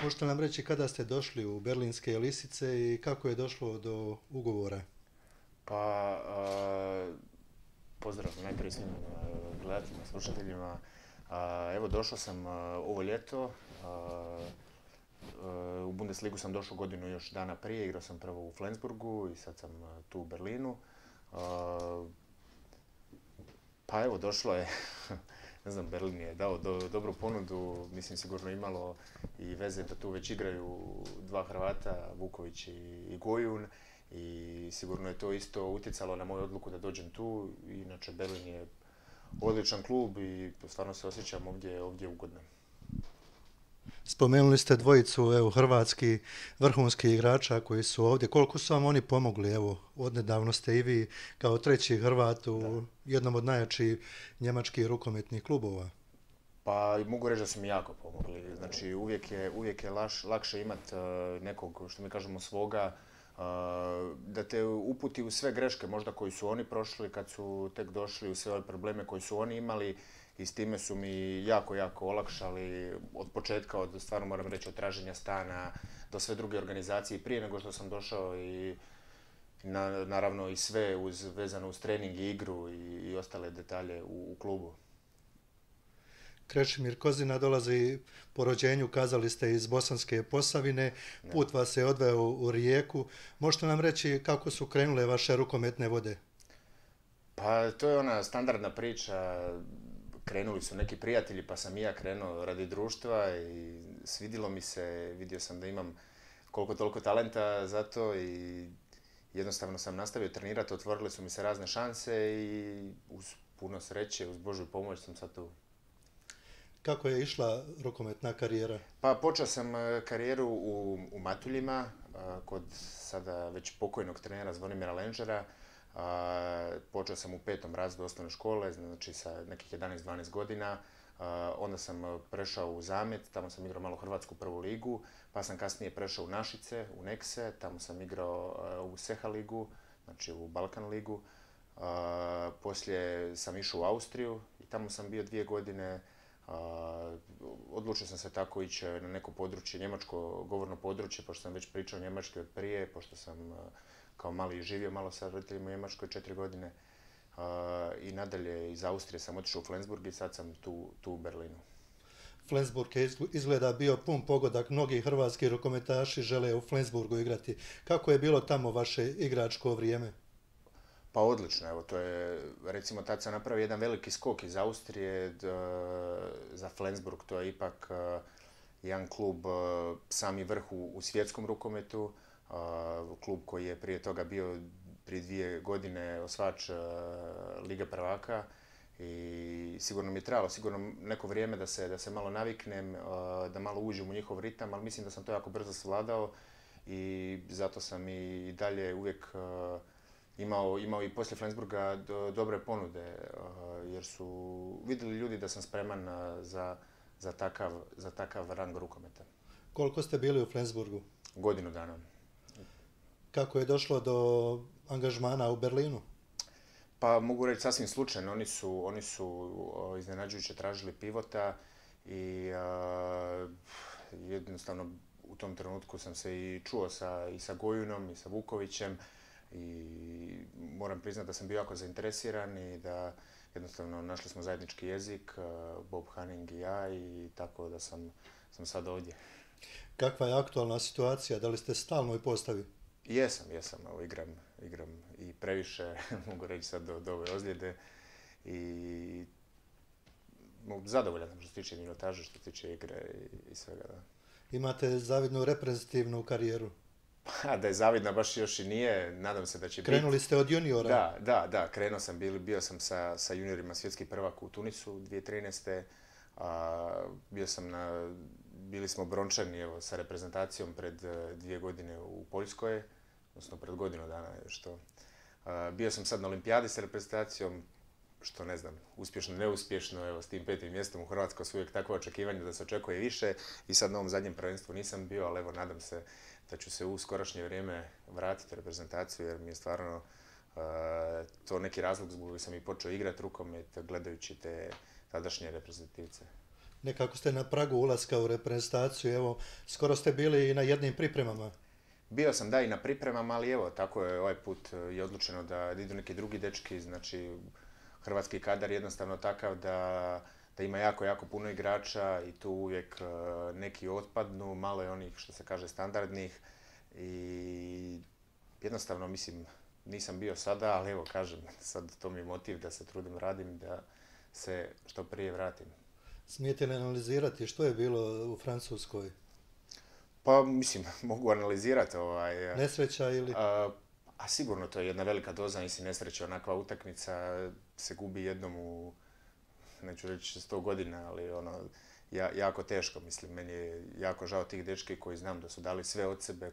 Možete nam reći kada ste došli u Berlinske Lisice i kako je došlo do ugovora? Pa, pozdrav najprije svim gledateljima, slušateljima. Evo, došao sam ovo ljeto. U Bundesligu sam došao godinu još dana prije, igrao sam prvo u Flensburgu i sad sam tu u Berlinu. A, Pa evo, došlo je, ne znam, Berlin je dao dobru ponudu, mislim sigurno imalo i veze da tu već igraju dva Hrvata, Vuković i Gojun, i sigurno je to isto utjecalo na moju odluku da dođem tu. Inače, Berlin je odličan klub i stvarno se osjećam ovdje ugodno. Spomenuli ste dvojicu hrvatski vrhunskih igrača koji su ovdje. Koliko su vam oni pomogli? Evo, odnedavno ste i vi kao treći Hrvat Da. u jednom od najjačih njemačkih rukometnih klubova. Pa mogu reći da su mi jako pomogli. Znači, uvijek je lakše imati nekog, što mi kažemo, svoga, da te uputi u sve greške možda koji su oni prošli kad su tek došli, u sve ove probleme koji su oni imali, i s time su mi jako olakšali od početka, od, stvarno moram reći, od traženja stana do sve druge organizacije prije nego što sam došao, i naravno i sve vezano uz trening i igru i ostale detalje u klubu. Krešimir Kozina dolazi po rođenju, kazali ste, iz Bosanske Posavine. Da. Put vas je odveo u Rijeku. Možete nam reći kako su krenule vaše rukometne vode? Pa to je ona standardna priča. Krenuli su neki prijatelji, pa sam i ja krenuo radi društva i svidilo mi se, vidio sam da imam koliko toliko talenta za to, i jednostavno sam nastavio trenirati, otvorile su mi se razne šanse i uz puno sreće, uz Božju pomoć sam sad tu. Kako je išla rukometna karijera? Pa počeo sam karijeru u Matuljima, kod sada već pokojnog trenera Zvonimira Lenđera. Počeo sam u petom razredu osnovne škole, znači sa nekih 11-12 godina. Onda sam prešao u Zamet, tamo sam igrao malo hrvatsku prvu ligu, pa sam kasnije prešao u Našice, u Nekse, tamo sam igrao u Seha ligu, znači u Balkan ligu. Poslije sam išao u Austriju i tamo sam bio 2 godine. Odlučio sam se tako ići na neko područje, njemačko govorno područje, pošto sam već pričao njemački od prije, pošto sam kao mali živio malo sa roditeljima u Njemačkoj 4 godine. I nadalje iz Austrije sam otišao u Flensburg i sad sam tu u Berlinu. Flensburg je izgleda bio pun pogodak. Mnogi hrvatski rukometaši žele u Flensburgu igrati. Kako je bilo tamo vaše igračko vrijeme? Pa odlično, evo, to je, recimo, tad sam napravio jedan veliki skok iz Austrije za Flensburg. To je ipak jedan klub, sami vrh u svjetskom rukometu, klub koji je prije toga bio prije 2 godine osvajač Lige prvaka, i sigurno mi je trebalo sigurno neko vrijeme da se malo naviknem, da malo uđem u njihov ritam, ali mislim da sam to jako brzo savladao, i zato sam i dalje uvijek imao i poslije Flensburga dobre ponude, jer su vidjeli ljudi da sam spreman za takav rang rukometa. Koliko ste bili u Flensburgu? Godinu dana. Kako je došlo do angažmana u Berlinu? Pa mogu reći sasvim slučajno, oni su iznenađujuće tražili pivota, i jednostavno u tom trenutku sam se i čuo i sa Gojunom i sa Vukovićem, i moram priznati da sam bio jako zainteresiran i da jednostavno našli smo zajednički jezik, Bob Hanning i ja, i tako da sam sad ovdje. Kakva je aktualna situacija? Da li ste stalnoj postavi? Jesam, evo, igram i previše, mogu reći sad do ove ozljede, i zadovoljan sam što se tiče minutaže, što se tiče igre i svega, da. Imate zavidnu reprezentativnu karijeru. Pa da je zavidna baš još i nije, nadam se da će biti. Krenuli ste od juniora. Da, krenuo sam, bio sam sa juniorima svjetski prvak u Tunisu 2013. Bio sam bili smo brončani, evo, sa reprezentacijom pred 2 godine u Poljskoj, odnosno pred godinu dana još to. Bio sam sad na olimpijadi sa reprezentacijom, što ne znam, uspješno, neuspješno, evo, s tim 5. mjestom u Hrvatskoj su uvijek takve očekivanja da se očekuje više, i sad na ovom zadnjem prvenstvu nisam bio, ali evo, nadam se da ću se u skorašnje vrijeme vratiti u reprezentaciju, jer mi je stvarno to neki razlog zbog kojeg sam i počeo igrati rukomet gledajući te tadašnje reprezentativce. Nekako ste na pragu ulaska u reprezentaciju, evo, skoro ste bili i na jednim pripremama. Bio sam da i na pripremama, ali evo, tako je ovaj put je odlučeno da idu neki drugi dečki, znači hrvatski kadar je jednostavno takav da ima jako, jako puno igrača i tu uvijek neki otpadnu, malo je onih što se kaže standardnih i jednostavno mislim nisam bio sada, ali evo kažem, sad to mi je motiv da se trudim, radim, da se što prije vratim. Smijete li analizirati što je bilo u Francuskoj? Pa mislim, mogu analizirati Nesreća ili? a sigurno to je jedna velika doza, mislim nesreća, onakva utakmica se gubi jednom u, neću reći 100 godina, ali ono, jako teško, mislim, meni je jako žao tih dečki koji znam da su dali sve od sebe,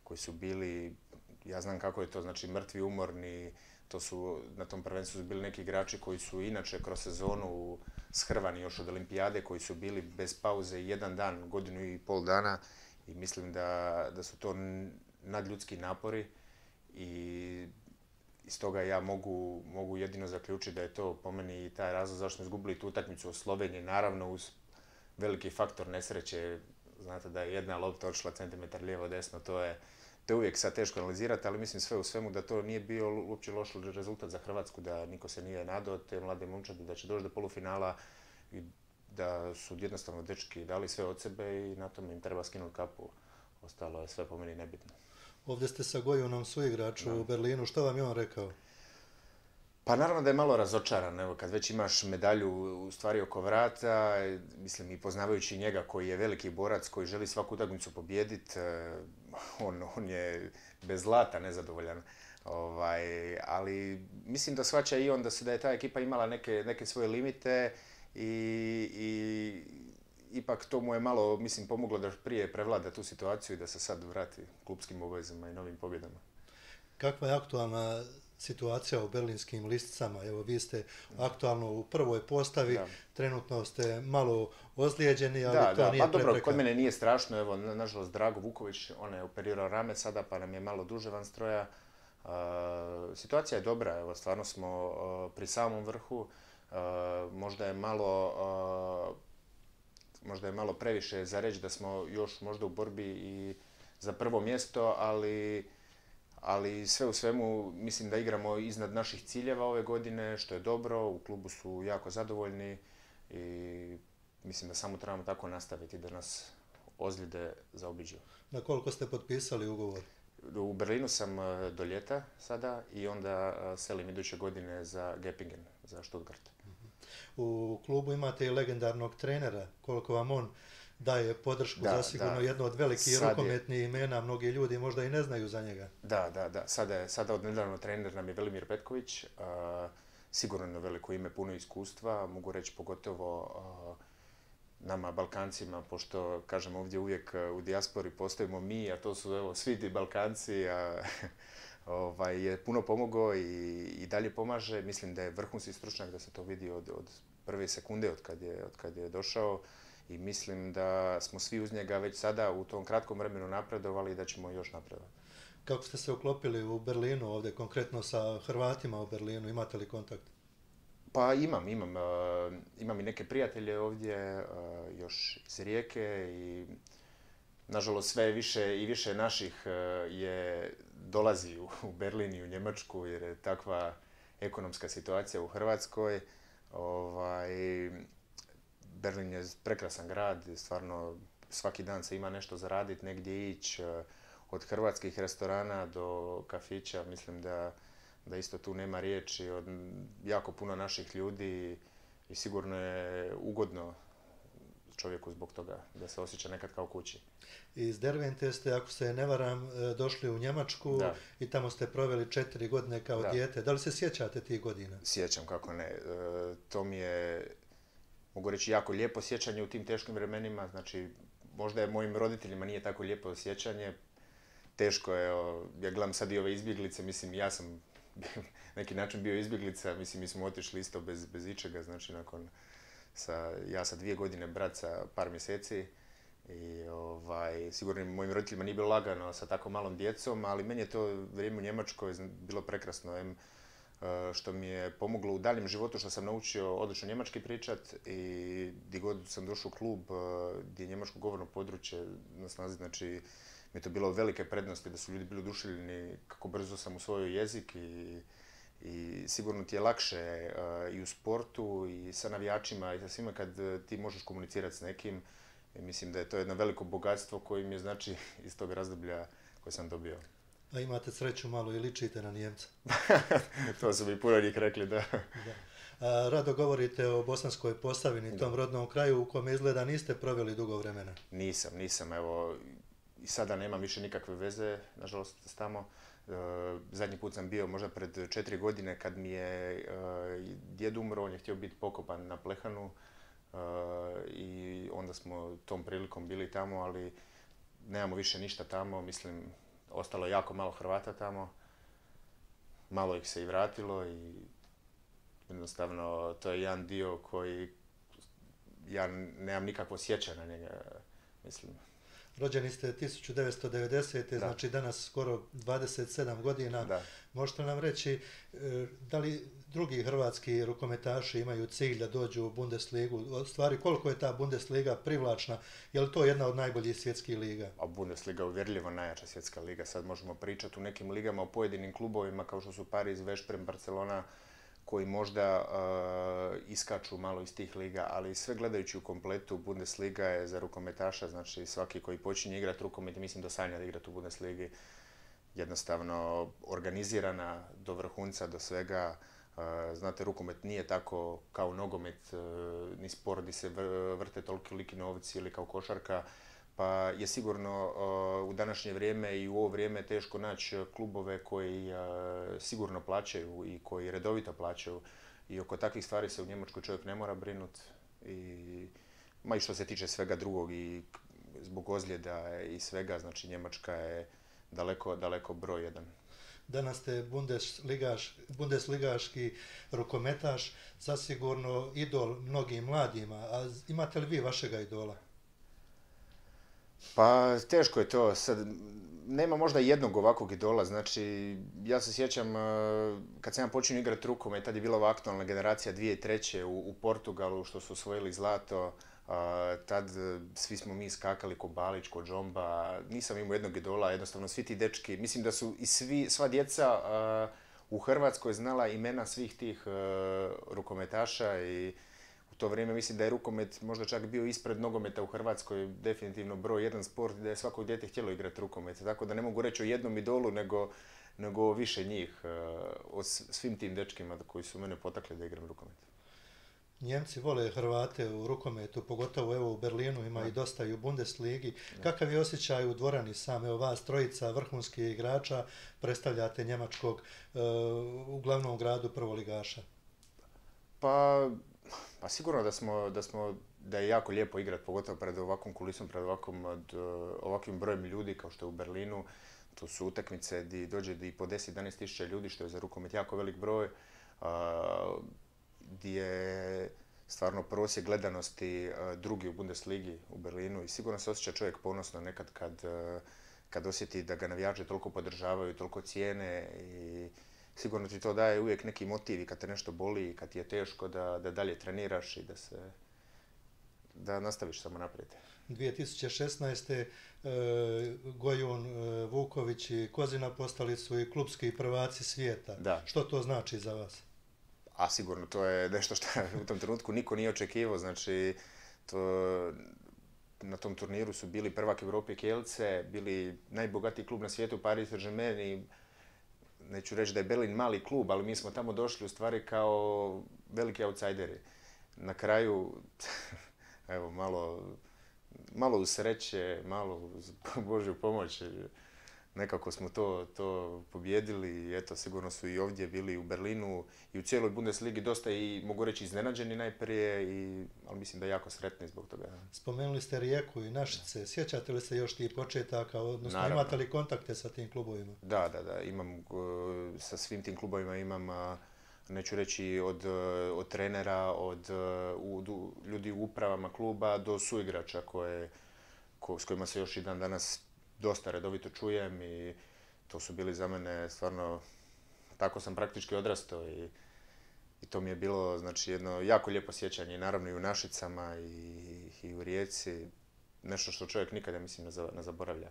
koji su bili, ja znam kako je to, znači mrtvi, umorni, to su, na tom prvenstvu su bili neki igrači koji su inače kroz sezonu shrvani još od olimpijade, koji su bili bez pauze jedan dan, godinu i pol dana i mislim da su to nadljudski napori i iz toga ja mogu jedino zaključiti da je to po meni i taj razlog zašto smo izgubili tu utakmicu u Sloveniji, naravno uz veliki faktor nesreće, znate da je jedna lopta odšla centimetar lijevo desno, to je uvijek sad teško analizirati, ali mislim sve u svemu da to nije bio uopće loš rezultat za Hrvatsku, da niko se nije nadao te mlade momčadi, da će doći do polufinala i da su jednostavno dečki dali sve od sebe i na tome im treba skinuti kapu. Ostalo je sve po meni nebitno. Ovdje ste sa Gojunom suigraču u Berlinu, što vam je on rekao? Pa naravno da je malo razočaran, evo kad već imaš medalju u stvari oko vrata, mislim i poznavajući njega koji je veliki borac, koji želi svaku utakmicu pobijediti, on je bez zlata nezadovoljan. Ali mislim da shvaća i on da je ta ekipa imala neke svoje limite i ipak to mu je malo, mislim, pomoglo da prije prevlada tu situaciju i da se sad vrati klupskim obavezama i novim pobjedama. Kakva je aktualna situacija u berlinskim listicama? Evo, vi ste aktualno u prvoj postavi, trenutno ste malo ozlijeđeni, ali to nije pa dobro, prepreka. kod mene nije strašno, evo, nažalost, Drago Vuković, on je operirao rame sada, pa nam je malo duže van stroja. Situacija je dobra, evo, stvarno smo pri samom vrhu, možda je malo previše za reći da smo još možda u borbi i za prvo mjesto, ali sve u svemu mislim da igramo iznad naših ciljeva ove godine, što je dobro, u klubu su jako zadovoljni i mislim da samo trebamo tako nastaviti da nas ozljede zaobiđu. Na koliko ste potpisali ugovor? U Berlinu sam do ljeta sada i onda selim iduće godine za Göppingen, za Stuttgart. U klubu imate i legendarnog trenera, koliko vam on daje podršku, zasigurno jedno od velikih rukometnih imena, mnogi ljudi možda i ne znaju za njega. Da. Sada od nedavno trener nam je Velimir Petković, sigurno na veliko ime, puno iskustva, mogu reći pogotovo nama Balkancima, pošto kažem ovdje uvijek u dijaspori postojimo mi, a to su evo, svi ti Balkanci, je puno pomogao i dalje pomaže. Mislim da je vrhunski stručnjak, da se to vidi od prve sekunde od kad je došao i mislim da smo svi uz njega već sada u tom kratkom vremenu napredovali i da ćemo još napredovati. Kako ste se uklopili u Berlinu ovdje, konkretno sa Hrvatima u Berlinu, imate li kontakt? Pa imam i neke prijatelje ovdje, još iz Rijeke i nažalost sve više i više naših dolazi u Berlin i u Njemačku jer je takva ekonomska situacija u Hrvatskoj. Berlin je prekrasan grad, stvarno svaki dan se ima nešto zaraditi, negdje ići, od hrvatskih restorana do kafića, mislim da isto tu nema riječi, od jako puno naših ljudi i sigurno je ugodno čovjeku zbog toga da se osjeća nekad kao kući. Iz Dervente ste, ako se ne varam, došli u Njemačku i tamo ste proveli 4 godine kao dijete. Da li se sjećate tih godina? Sjećam, kako ne. To mi je, mogu reći, jako lijepo sjećanje u tim teškim vremenima. Znači, možda je mojim roditeljima nije tako lijepo sjećanje. Teško je, ja gledam sad i ove izbjeglice, mislim, ja sam neki način bio izbjeglica, mislim, mi smo otišli isto bez ičega, znači ja sa 2 godine, brat sa par mjeseci i sigurno mojim roditeljima nije bilo lagano sa tako malom djecom, ali meni je to vrijeme u Njemačkoj bilo prekrasno. što mi je pomoglo u daljem životu, što sam naučio odlično njemački pričat i gdje god sam došao u klub gdje je njemačko govorno područje na snazi, znači mi je to bilo velike prednosti da su ljudi bili oduševljeni kako brzo sam usvojio jezik i sigurno ti je lakše i u sportu i sa navijačima i sa svima kad ti možeš komunicirati s nekim. I mislim da je to jedno veliko bogatstvo koje mi je znači iz tog razdoblja koje sam dobio. A imate sreću malo i ličite na Nijemca. To su mi puno njih rekli, da. Rado govorite o Bosanskoj Posavini, tom rodnom kraju u kome izgleda niste proveli dugo vremena. Nisam, evo, i sada nemam više nikakve veze, nažalost, s tamo. Zadnji put sam bio možda pred 4 godine kad mi je djed umro, on je htio biti pokopan na Plehanu i onda smo tom prilikom bili tamo, ali nemamo više ništa tamo, mislim, ostalo je jako malo Hrvata tamo, malo ih se i vratilo i jednostavno to je jedan dio koji ja nemam nikakvo sjećanje na njega, mislim. Rođeni ste 1990. Znači danas skoro 27 godina. Da. Možete nam reći da li drugi hrvatski rukometaši imaju cilj da dođu u Bundesligu? U stvari, koliko je ta Bundesliga privlačna? Je li to jedna od najboljih svjetskih liga? A Bundesliga je uvjerljivo najjača svjetska liga. Sad možemo pričati u nekim ligama o pojedinim klubovima kao što su Paris, Veszprem, Barcelona, koji možda iskaču malo iz tih liga, ali sve gledajući u kompletu, Bundesliga je za rukometaša, znači svaki koji počinje igrati rukomet, mislim da sanja da igrati u Bundesligi, jednostavno organizirana do vrhunca, do svega. Znate, rukomet nije tako kao nogomet, ni sport gdje se vrte toliki novci ili kao košarka, pa je sigurno u današnje vrijeme i u ovo vrijeme teško naći klubove koji sigurno plaćaju i koji redovito plaćaju i oko takvih stvari se u Njemačkoj čovjek ne mora brinuti. Ma i što se tiče svega drugog i zbog ozljeda i svega, znači Njemačka je daleko broj jedan. Danas ste bundesligaški rukometaš, zasigurno idol mnogim mladima, a imate li vi vašega idola? Pa teško je to, sad nema možda jednog ovakvog idola, znači ja se sjećam kad sam ja počinio igrati rukomet, tad je bila ova aktualna generacija 2003. u Portugalu što su osvojili zlato, tad svi smo mi skakali ko Balić, ko Džomba, nisam imao jednog idola, jednostavno svi ti dečki, mislim da su i sva djeca u Hrvatskoj znala imena svih tih rukometaša i u to vrijeme mislim da je rukomet možda čak bio ispred nogometa u Hrvatskoj, definitivno broj jedan sport da je svako dijete htjelo igrati rukomet. Tako da ne mogu reći o jednom idolu nego više njih, o svim tim dečkima koji su mene potakli da igram rukomet. Njemci vole Hrvate u rukometu, pogotovo evo u Berlinu ima i dosta i u Bundesligi. Kakav je osjećaj u dvorani sam? Evo vas trojica vrhunskih igrača predstavljate njemačkog u glavnom gradu prvoligaša. Pa sigurno da je jako lijepo igrati, pogotovo pred ovakvom kulisom, pred ovakvim brojem ljudi kao što je u Berlinu. To su utakmice gdje dođe i po 10-11 tisuća ljudi, što je za rukomet jako velik broj, gdje je stvarno prosjek gledanosti drugi u Bundesligi u Berlinu i sigurno se osjeća čovjek ponosno nekad kad osjeti da ga navijači toliko podržavaju, toliko cijene i sigurno ti to daje uvijek neki motiv i kad te nešto boli i kad ti je teško da dalje treniraš i da nastaviš samo naprijed. 2016. Gojun, Vuković i Kozina postali su i klubski prvaci svijeta. Da. Što to znači za vas? A sigurno, to je nešto što u tom trenutku niko nije očekivao. Znači, na tom turniru su bili prvak Europe Kielce, bili najbogatiji klub na svijetu, Paris Saint-Germain i neću reći da je Berlin mali klub, ali mi smo tamo došli u stvari kao veliki outsideri. Na kraju, evo, malo uz sreće, malo uz Božju pomoć, nekako smo to pobjedili i eto, sigurno su i ovdje bili u Berlinu i u cijeloj Bundesligi dosta i, mogu reći, iznenađeni najprije, ali mislim da je jako sretni zbog toga. Spomenuli ste Rijeku i Našice. Sjećate li se još tih početaka, odnosno Naravno. Imate li kontakte sa tim klubovima? Da, imam, sa svim tim klubovima imam, neću reći od trenera, od ljudi u upravama kluba do suigrača s kojima se još i dan danas dosta redovito čujem i to su bili za mene stvarno tako sam praktički odrastao i to mi je bilo znači, jedno jako lijepo sjećanje, naravno i u Našicama i u Rijeci, nešto što čovjek nikada, mislim, ne zaboravlja.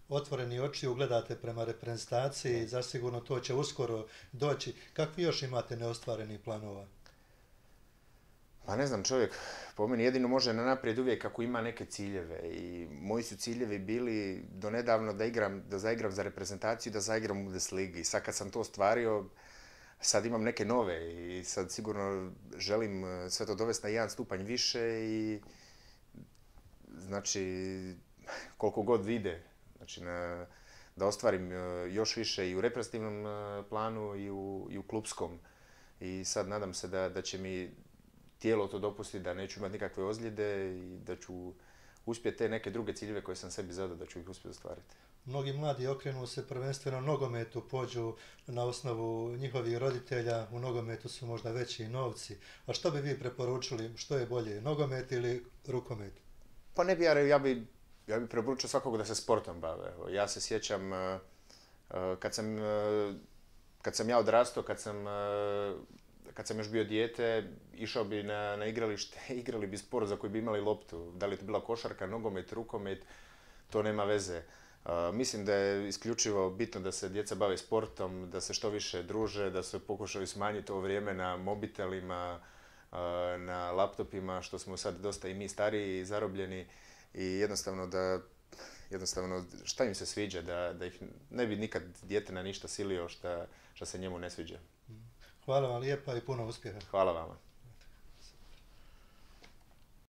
Otvoreni oči ugledate prema reprezentaciji, zasigurno to će uskoro doći. Kakvi još imate neostvarenih planova? Pa ne znam, čovjek po meni jedino može na naprijed uvijek ako ima neke ciljeve i moji su ciljevi bili donedavno da zaigram za reprezentaciju, da zaigram u Bundesligi. I sad kad sam to ostvario, sad imam neke nove i sad sigurno želim sve to dovesti na jedan stupanj više i znači koliko god vide, znači da ostvarim još više i u reprezentativnom planu i u klupskom. I sad nadam se da će mi tijelo to dopusti, da neću imati nikakve ozljede i da ću uspjeti te neke druge ciljeve koje sam sebi zadao, da ću ih uspjeti ostvariti. Mnogi mladi okrenu se prvenstveno nogometu, pođu na osnovu njihovih roditelja, u nogometu su možda veći novci. A što bi vi preporučili, što je bolje, nogomet ili rukomet? Pa ne bi ja bi preporučio svakog da se sportom bave. Ja se sjećam kad sam ja odrastao, kad sam još bio dijete, išao bi na igralište, igrali bi sport za koji bi imali loptu. Da li je to bila košarka, nogomet, rukomet, to nema veze. Mislim da je isključivo bitno da se djeca bave sportom, da se što više druže, da se pokušaju smanjiti ovo vrijeme na mobitelima, na laptopima, što smo sad dosta i mi stariji i zarobljeni i jednostavno šta im se sviđa, da ih ne bi nikad dijete na ništa silio šta se njemu ne sviđa. Hvala vam lijepa i puno uspjeha. Hvala vama.